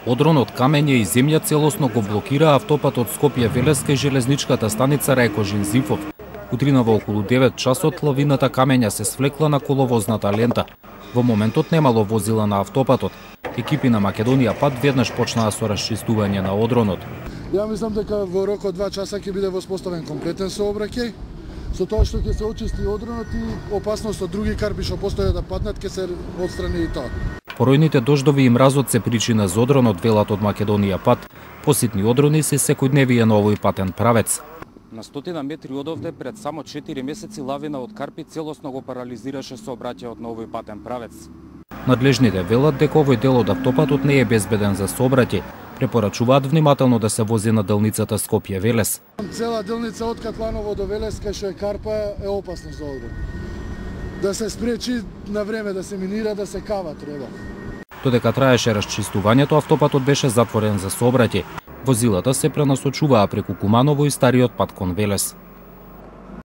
Одрон од камење и земја целосно го блокира автопатот Скопје-Велес кај железничката станица Рајко-Жензифов. Утринава околу 9 часот лавината камења се свлекла на коловозната лента. Во моментот немало возила на автопатот. Екипи на Македонија пат веднаш почнаа со расчистување на одронот. Ја мислам дека во рок од 2 часа ќе биде воспоставен комплетен сообраќај, со тоа што ќе се очисти одронот и опасност од други карби што постојат да паднат ќе се отстрани и тоа. Поројните дождови и мразот се причина за одронот, велат од Македонија пат. Поситни одрони се секојдневие на овој патен правец. На 100 метри одовде пред само 4 месеци лавина од карпи целосно го парализираше сообраќајот на овој патен правец. Надлежните велат дека овој дел од автопатот не е безбеден за сообраќај. Препорачуваат внимателно да се вози на делницата Скопје-Велес. Цела делница од Катланово до Велес кај што е карпа е опасна за одрон. Да се спречи на време, да се минира, да се кава треба. Додека траеше расчистувањето, автопатот беше затворен за сообраќај. Возилата се пренасочуваа преку Куманово и стариот пат кон Велес.